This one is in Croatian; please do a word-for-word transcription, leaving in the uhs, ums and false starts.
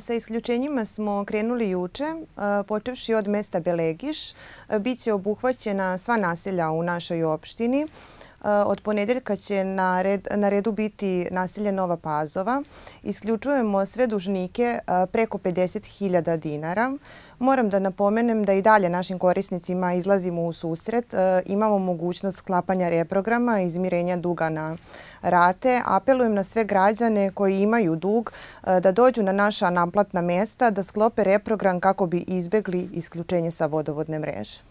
Sa isključenjima smo krenuli juče, počevši od mesta Belegiš. Biće obuhvaćena sva naselja u našoj opštini. Od ponedeljka će na, red, na redu biti naselje Nova Pazova. Isključujemo sve dužnike preko pedeset hiljada dinara. Moram da napomenem da i dalje našim korisnicima izlazimo u susret. Imamo mogućnost sklapanja reprograma i izmirenja duga na rate. Apelujem na sve građane koji imaju dug da dođu na naša naplatna mesta, da sklope reprogram kako bi izbegli isključenje sa vodovodne mreže.